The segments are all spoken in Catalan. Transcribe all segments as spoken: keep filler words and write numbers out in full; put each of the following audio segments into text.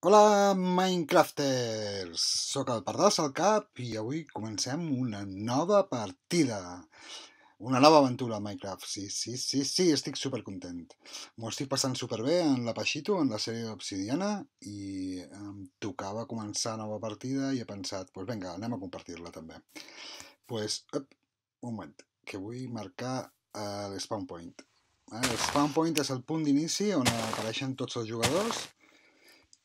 Hola Minecrafters, soc el Pardal Salcap i avui comencem una nova partida, una nova aventura a Minecraft, sí, sí, sí, sí, estic supercontent. M'ho estic passant superbé en la Pachito, en la sèrie d'Obsidiana i em tocava començar nova partida i he pensat, doncs pues vinga, anem a compartir-la també. Doncs, pues, up, un moment, que vull marcar uh, l'spawn point. El spawn point és el punt d'inici on apareixen tots els jugadors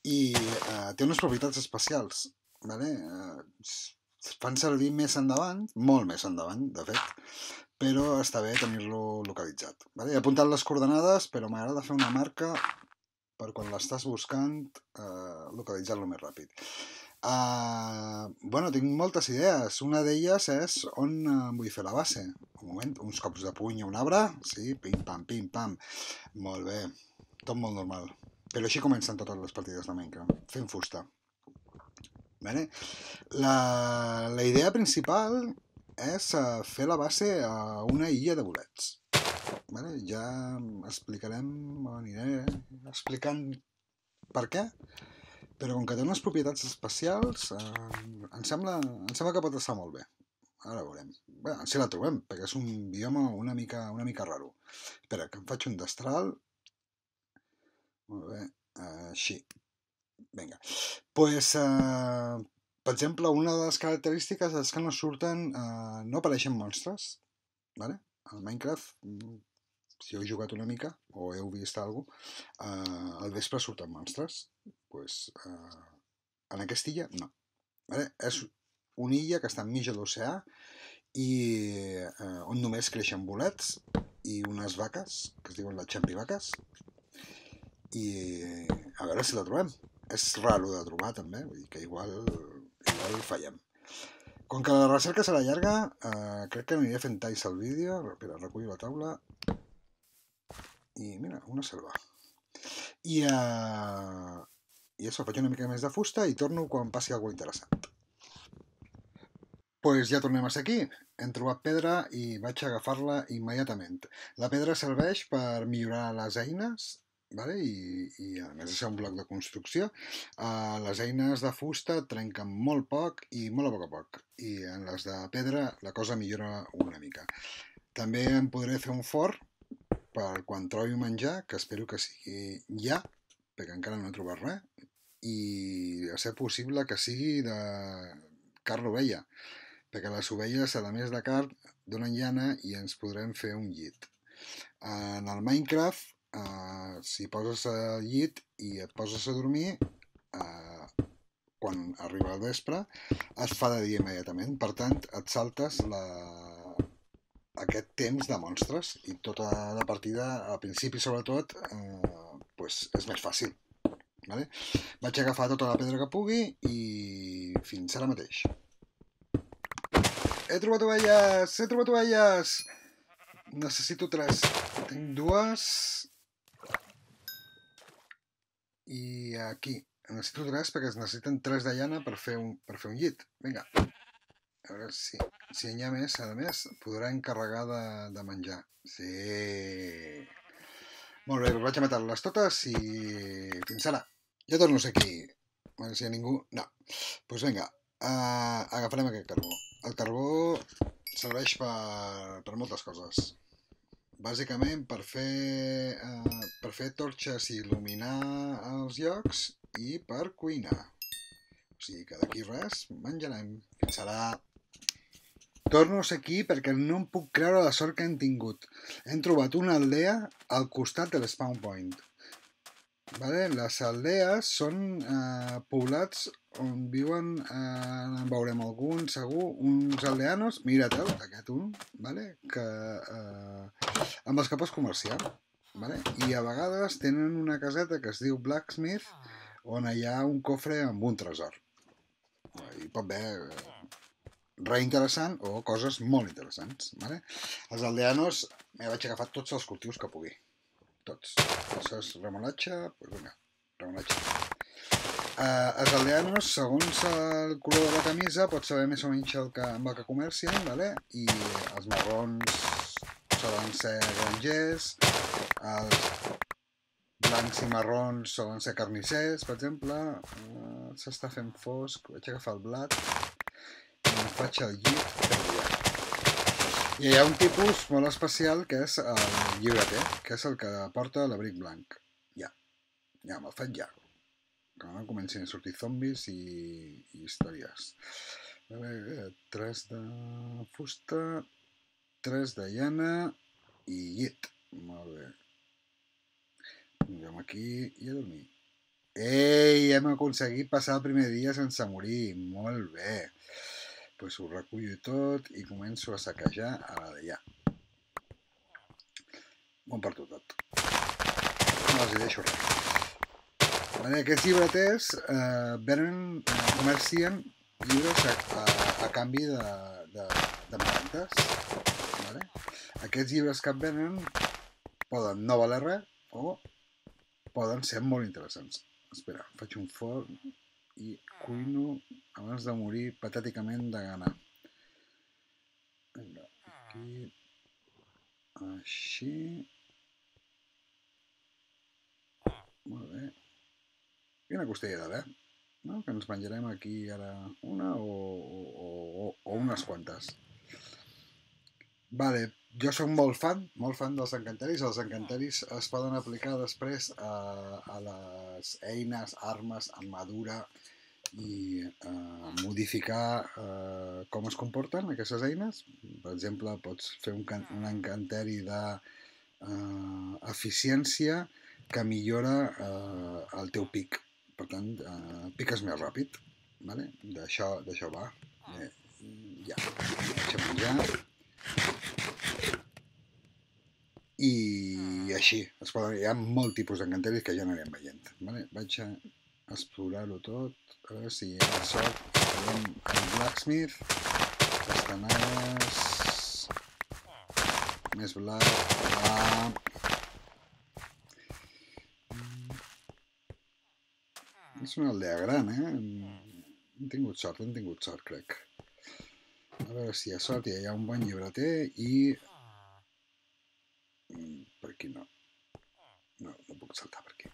i eh, té unes propietats especials, vale? Eh, es fan servir més endavant, molt més endavant, de fet, però està bé tenir-lo localitzat. Vale? He apuntat les coordenades, però m'agrada fer una marca per quan l'estàs buscant eh, localitzar-lo més ràpid. Uh, bueno, tinc moltes idees. Una d'elles és on uh, vull fer la base. Un moment, uns cops de puny a un arbre, sí, pim-pam, pim-pam. Molt bé, tot molt normal. Però així comencen totes les partides de Minecraft, fent fusta. Vale? La, la idea principal és uh, fer la base a una illa de bolets. Vale? Ja explicarem, aniré explicant per què, però com que té unes propietats especials, eh, em, sembla, em sembla que pot estar molt bé. Ara veurem. Bé, si la trobem, perquè és un bioma una mica, una mica raro. Espera, que em faig un destral. Molt bé, així. Vinga. Pues, uh, per exemple, una de les característiques és que no surten, uh, no apareixen monstres, vale? Al Minecraft, si heu jugat una mica o heu vist alguna cosa, uh, al vespre surten monstres. Pues, uh, en aquesta illa, no. Vale? És una illa que està enmig de l'oceà i uh, on només creixen bolets i unes vaques, que es diuen les xampivaques, i a veure si la trobem. És raro de trobar també, vull dir que igual, igual fallem. Com que la recerca serà llarga, eh, crec que aniré fent talls al vídeo. Espera, recullo la taula. I mira, una selva. I, eh, i això, faig una mica més de fusta i torno quan passi alguna interessant. Pues ja tornem a ser aquí. Hem trobat pedra i vaig agafar-la immediatament. La pedra serveix per millorar les eines, vale? I, i a més de ser un bloc de construcció, uh, les eines de fusta trenquen molt poc i molt a poc a poc, i en les de pedra la cosa millora una mica. També em podré fer un forn per quan trobi menjar, que espero que sigui ja, perquè encara no he trobat res, i a ser possible que sigui de carn ovella, perquè les ovelles, a més de carn, donen llana i ens podrem fer un llit. En el Minecraft, Uh, si poses al llit i et poses a dormir, uh, quan arriba el vespre es fa de dia immediatament, per tant et saltes la... aquest temps de monstres i tota la partida al principi sobretot uh, pues és més fàcil, vale? Vaig agafar tota la pedra que pugui i fins ara mateix he trobat ovelles, he trobat ovelles, necessito tres, tinc dues. I aquí necessito tres perquè es necessiten tres de llana per fer un, per fer un llit. Vinga, a veure si, si n'hi ha més, a més, podrà encarregar de, de menjar. Sí. Molt bé, vaig a matar-les totes i fins ara. Ja torno a ser aquí. A veure si hi ha ningú. No. Doncs pues vinga, uh, agafarem aquest carbó. El carbó serveix per, per moltes coses. Bàsicament per fer, eh, per fer torxes i il·luminar els llocs i per cuinar. O sigui que d'aquí res, menjarem. Fins ara. Torno a ser aquí perquè no em puc creure la sort que hem tingut. Hem trobat una aldea al costat de l'spawn point. Vale? Les aldees són eh, poblats on viuen, eh, en veurem algun segur, uns aldeanos, mira't, aquest un, vale? Que, eh, amb els que pots comerciar, vale? I a vegades tenen una caseta que es diu Blacksmith, on hi ha un cofre amb un tresor. Hi pot haver res interessant o coses molt interessants, vale? Els aldeanos, m'he vaig agafar tots els cultius que pugui. Tots. Això és remolatge, doncs vinga, remolatge. Uh, els aldeanos, segons el color de la camisa, pots saber més o menys el que, amb el que comercien, vale? I els marrons solen ser grangers, els blancs i marrons solen ser carnissers, per exemple. Uh, S'està fent fosc, vaig agafar el blat i em faig el llit per allà. I hi ha un tipus molt especial que és el llibreter, que és el que porta l'abric blanc. Ja, ja me'l faig ja. Que no comencin a sortir zombis i, i històries. Vale, tres de fusta, tres de llana i llit. Molt bé. Vengem aquí i a dormir. Ei, hem aconseguit passar el primer dia sense morir. Molt bé. Doncs pues ho recullo tot i començo a saquejar a la d'allà. M'ho emporto tot. No els hi deixo res. Vale, aquests llibreters eh, venen, eh, comercien llibres a, a, a canvi de, de, de marrantes. Vale? Aquests llibres que et venen poden no valer res o poden ser molt interessants. Espera, faig un forn i cuino abans de morir patèticament de gana. Aquí, així. Molt bé. I una costella de bé, no? Que ens menjarem aquí ara una o, o, o, o unes quantes. Vale, jo soc molt fan, molt fan dels encanteris. Els encanteris es poden aplicar després a, a les eines, armes, armadura i eh, modificar eh, com es comporten aquestes eines. Per exemple, pots fer un, un encanteri de eh, eficiència que millora eh, el teu pic. Per tant, eh, piques més ràpid. Vale? D'això va. Eh, ja, vaig a menjar. I així, es poden, hi ha molt tipus d'encanteris que ja anirem veient. Vale? Vaig a explorar-ho tot, a veure si hi ha sort. Farem el blacksmith, castanades, més blat, blat. És una aldea gran, eh? Hem tingut sort, hem tingut sort, crec. A veure si hi ha sort, hi ha un bon llibreter i... Per aquí no. No, no puc saltar per aquí.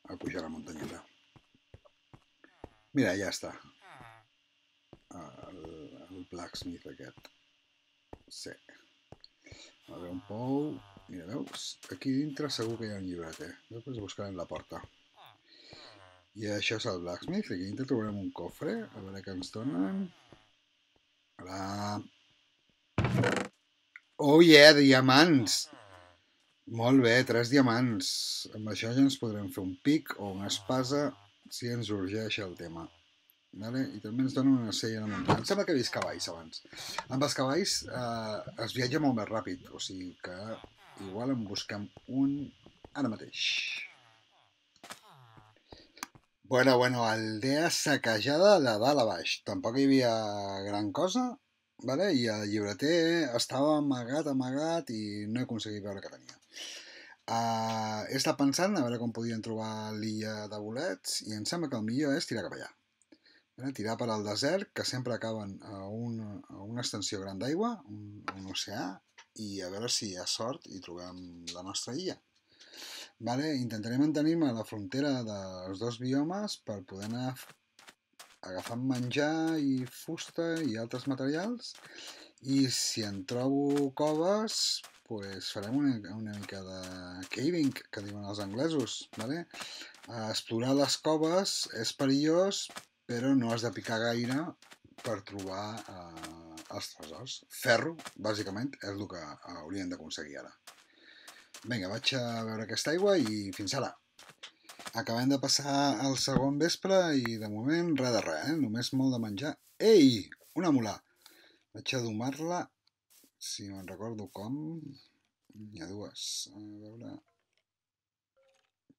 A pujar la muntanyeta. Mira, ja està. El, el blacksmith aquest. Sí. A veure, un pou... Mira, veus? Aquí dintre segur que hi ha un llibreter. Després buscarem la porta. I això és el blacksmith. Aquí dintre trobarem un cofre. A veure què ens donen. Hola. Oh yeah, diamants! Molt bé, tres diamants. Amb això ja ens podrem fer un pic o una espasa si ens urgeix el tema. Vale? I també ens donen una sella de muntanya. Em sembla que he vist cavalls abans. Amb els cavalls eh, es viatja molt més ràpid, o sigui que igual en busquem un ara mateix. Bueno, bueno, aldea saquejada de dalt a baix. Tampoc hi havia gran cosa, vale? I el llibreter estava amagat, amagat i no he aconseguit veure què tenia. Uh, he estat pensant a veure com podien trobar l'illa de bolets i em sembla que el millor és tirar cap allà. Vale? Tirar per al desert, que sempre acaben a una, a una extensió gran d'aigua, un, un oceà, i a veure si hi ha sort i trobem la nostra illa. Vale? Intentaré mantenir-me a la frontera dels dos biomes per poder anar agafant menjar i fusta i altres materials, i si en trobo coves pues farem una, una mica de caving, que diuen els anglesos. Vale? Explorar les coves és perillós, però no has de picar gaire per trobar eh, els tresors. Ferro, bàsicament, és el que hauríem d'aconseguir ara. Vinga, vaig a veure aquesta aigua i fins ara. Acabem de passar el segon vespre i de moment res de res, eh? Només molt de menjar. Ei! Una mula! Vaig a domar-la, si me'n recordo com. N'hi ha dues. A veure...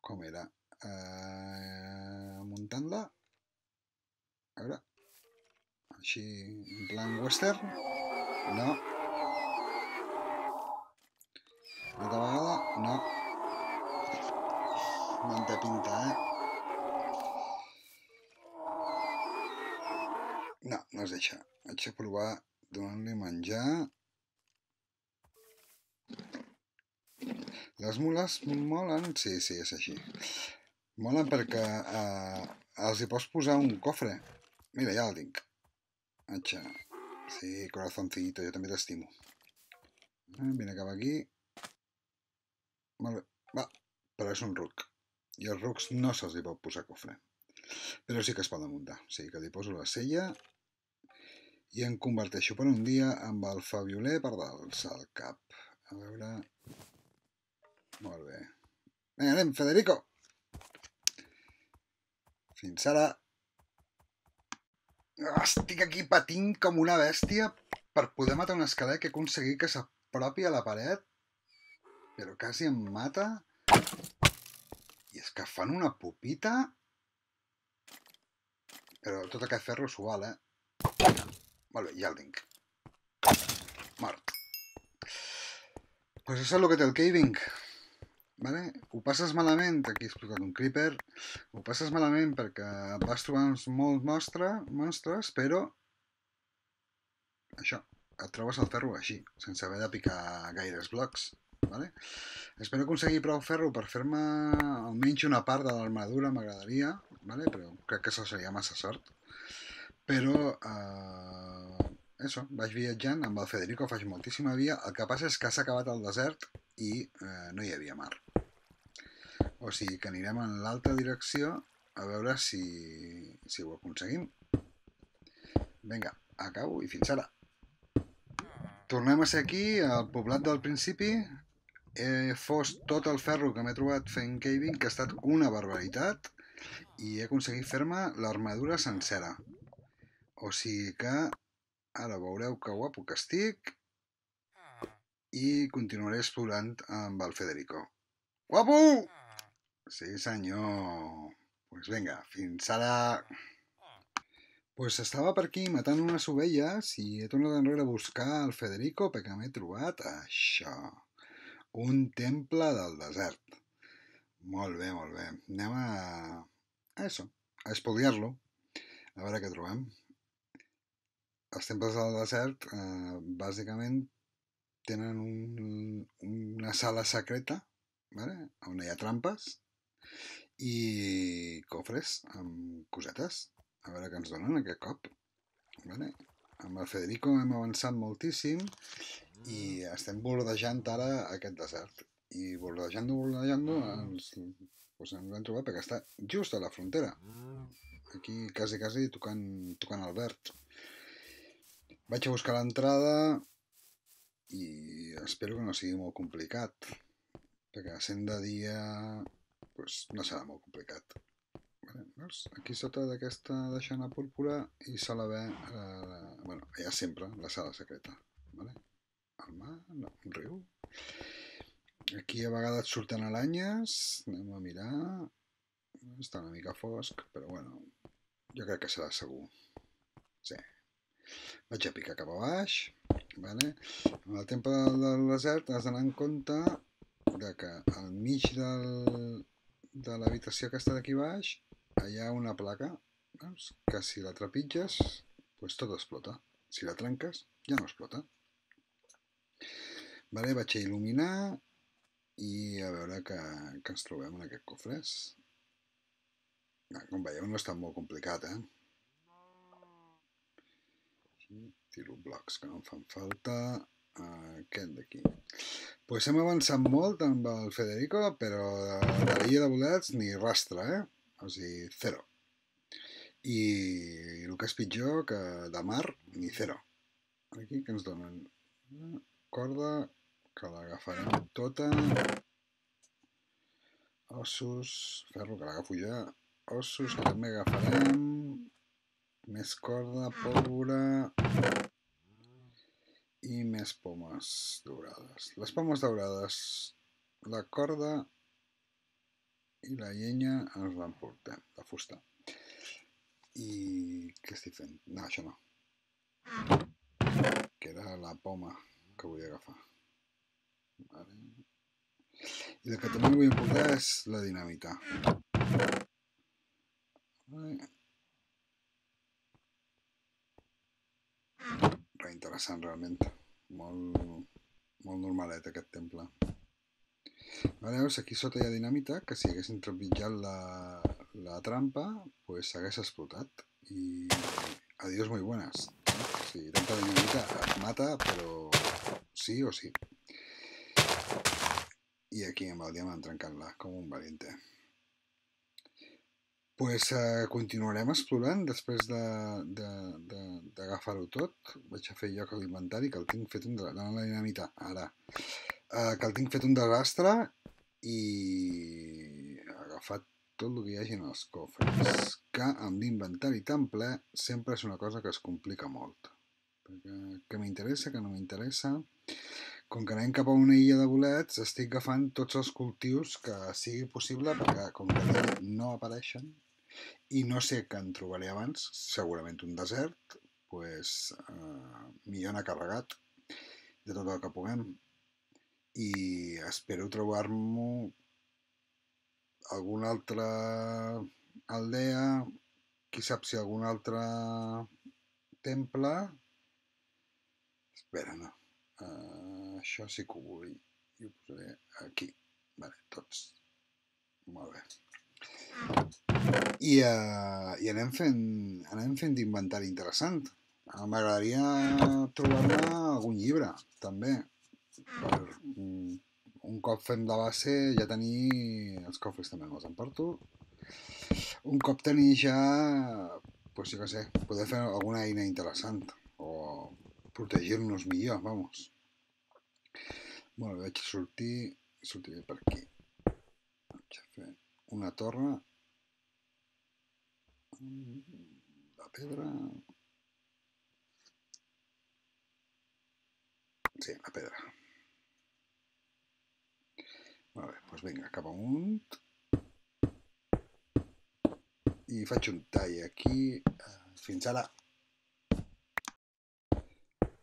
Com era? Uh, muntant-la. A veure... Així, en plan western. No. Una altra vegada. No. No en té pinta, eh? No, no es deixa. Vaig a provar donant-li menjar. Les mules molen... Sí, sí, és així. Molen perquè eh, els hi pots posar un cofre. Mira, ja el tinc. Atxa. Sí, corazoncito, jo també t'estimo. Eh, vine cap aquí. Molt bé. Va, però és un ruc. I els rucs no se'ls hi pot posar cofre. Però sí que es poden muntar. O sigui que li poso la sella i em converteixo per un dia amb el Fabioler per dalt al cap. A veure... Molt bé. Vinga, anem, Federico! Fins ara. Estic aquí patint com una bèstia per poder matar un esquelet que he aconseguit que s'apropi a la paret, però quasi em mata. I és que fan una pupita. Però tot aquest ferro s'ho val, eh? Molt bé, ja el tinc. Mort. Pues això és el que té el caving. Vale? Ho passes malament, aquí he explicat un creeper, ho passes malament perquè vas trobar uns molts monstre, monstres, però això, et trobes el ferro així, sense haver de picar gaires blocs. Vale? Espero aconseguir prou ferro per fer-me almenys una part de l'armadura, m'agradaria, vale? Però crec que això seria massa sort. Però, eh, això, vaig viatjant amb el Federico, faig moltíssima via, el que passa és que s'ha acabat el desert i eh, no hi havia mar. O sigui que anirem en l'altra direcció a veure si, si ho aconseguim. Vinga, acabo i fins ara. Tornem a ser aquí, al poblat del principi. He fos tot el ferro que m'he trobat fent caving, que ha estat una barbaritat, i he aconseguit fer-me l'armadura sencera. O sigui que ara veureu que guapo que estic i continuaré explorant amb el Federico. Guapo! Sí, senyor. Pues vinga, fins ara. Pues estava per aquí matant unes ovelles i he tornat enrere a buscar el Federico perquè m'he trobat això. Un temple del desert. Molt bé, molt bé. Anem a... a això, a espoliar-lo. A veure què trobem. Els temples del desert, eh, bàsicament, tenen un, una sala secreta, ¿vale? On hi ha trampes i cofres amb cosetes. A veure què ens donen aquest cop. Vale? Amb el Federico hem avançat moltíssim i estem bordejant ara aquest desert. I bordejant-lo, bordejant-lo, ens, doncs ens vam trobar perquè està just a la frontera. Aquí quasi, quasi tocant, tocant el verd. Vaig a buscar l'entrada i espero que no sigui molt complicat, perquè sent de dia doncs no serà molt complicat. Vale, veus? Aquí sota d'aquesta deixant púrpura hi sol haver, eh, bueno, hi ha sempre la sala secreta. Vale? El mar, no, un riu. Aquí a vegades surten aranyes, anem a mirar. Està una mica fosc, però bueno, jo crec que serà segur. Sí. Vaig a picar cap a baix. Vale? En el temple del desert has d'anar en compte de que al mig del, de l'habitació que està d'aquí baix hi ha una placa, veus? Que si la trepitges pues tot explota. Si la trenques ja no explota. Vale, vaig a il·luminar i a veure què, què ens trobem en aquests cofres. Com veieu no està molt complicat, eh? Tiro blocs que no em fan falta. Aquest d'aquí. Pues hem avançat molt amb el Federico, però de l'illa de bolets ni rastre, eh? O sigui, zero. I el que és pitjor, que de mar, ni zero. Aquí que ens donen corda, que l'agafarem tota. Ossos, ferro, que l'agafo ja. Ossos, que també agafarem. Més corda, pólvora i més pomes daurades. Les pomes daurades, la corda i la llenya ens l'emportem, la fusta. I què estic fent? No, això no. Que era la poma que vull agafar. Vale. I el que també vull emportar és la dinamita. Vale. Reinteressant realment. Molt, molt normalet aquest temple. Veus, aquí sota hi ha dinamita, que si haguessin trepitjat la, la trampa, pues s'hagués explotat. I adiós muy buenas. Sí, tanta dinamita et mata, però sí o sí. I aquí amb el diamant trencant-la, com un valiente. Pues eh, continuarem explorant després d'agafar-ho tot. Vaig a fer lloc a l'inventari, que el tinc fet un... de la dinamita, ara. Uh, que el tinc fet un desastre i he agafat tot el que hi hagi en els cofres, que amb l'inventari tan ple sempre és una cosa que es complica molt, perquè que m'interessa, que no m'interessa. Com que anem cap a una illa de bolets, estic agafant tots els cultius que sigui possible, perquè com que no apareixen i no sé què en trobaré abans, segurament un desert, pues, eh, millor anar carregat de tot el que puguem. I espero trobar-m'ho alguna altra aldea, qui sap si algun altre temple. Espera, no. Uh, això sí que ho vull. I ho posaré aquí. Vale, tots. Molt bé. I, uh, i anem fent, anem fent d'inventari interessant. M'agradaria trobar-me algun llibre, també. Per, un cop fem la base ja tenir els cofres també me'ls emporto. Un cop tenir ja, pues jo què sé, poder fer alguna eina interessant o protegir-nos millor, vamos. Molt bé, vaig sortir, sortiré per aquí. Vaig a fer una torre. La pedra... Sí, la pedra. Molt bé, doncs vinga, cap amunt. I faig un tall aquí. Fins ara.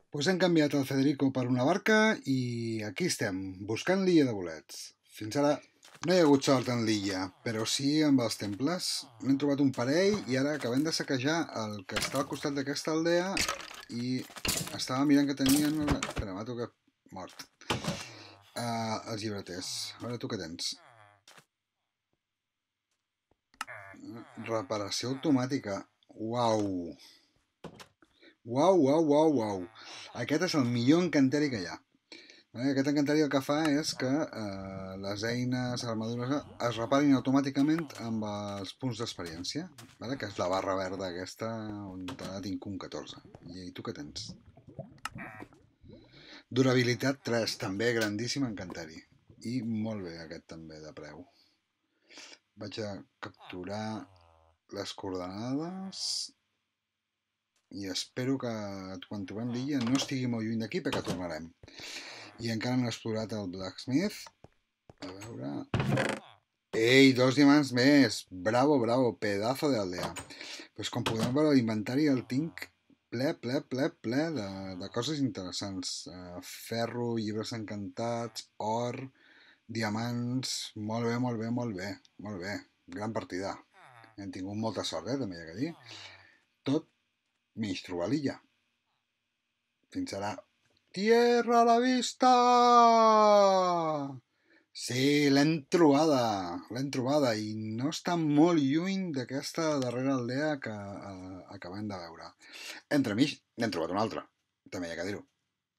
Doncs hem canviat el Federico per una barca i aquí estem, buscant l'illa de bolets. Fins ara no hi ha hagut sort en l'illa, però sí amb els temples. N'hem trobat un parell i ara acabem de saquejar el que està al costat d'aquesta aldea i estava mirant que tenien... Espera, m'ha tocat mort. Uh, els llibreters. A veure, tu què tens? Reparació automàtica. Uau! Uau, uau, uau, uau. Aquest és el millor encanteri que hi ha. Aquest encanteri el que fa és que eh, les eines, les armadures, es reparin automàticament amb els punts d'experiència, vale? Que és la barra verda aquesta on tinc un catorze. I tu què tens? Durabilitat tres, també grandíssim encanteri. I molt bé aquest també de preu. Vaig a capturar les coordenades i espero que quan trobem l'illa no estigui molt lluny d'aquí perquè tornarem. I encara no he explorat el Blacksmith. A veure... Ei, dos diamants més! Bravo, bravo, pedazo d'aldea. Pues com podem veure l'inventari el tinc ple, ple, ple, ple de, de coses interessants. Uh, ferro, llibres encantats, or, diamants... Molt bé, molt bé, molt bé. Molt bé, gran partida. Hem tingut molta sort, eh, també hi ha que dir. Tot mig trobar l'illa. Fins ara. Tierra a la vista! Sí, l'hem trobada, l'hem trobada i no està molt lluny d'aquesta darrera aldea que eh, acabem de veure. Entremig n'hem trobat una altra, també hi ha que dir-ho.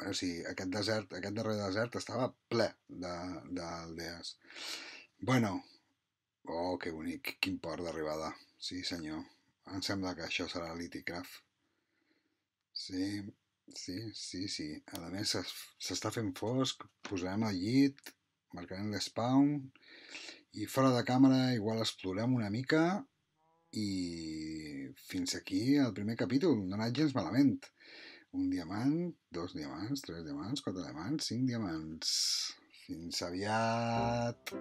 O sigui, aquest desert, aquest darrer desert estava ple d'aldees. Bueno, oh, que bonic, quin port d'arribada. Sí, senyor, em sembla que això serà l'Iticraft. Sí... Sí, sí, sí. A més, s'està fent fosc, posarem el llit, marcarem l'espawn i fora de càmera igual explorem una mica i fins aquí el primer capítol. No ha anat gens malament. Un diamant, dos diamants, tres diamants, quatre diamants, cinc diamants. Fins aviat!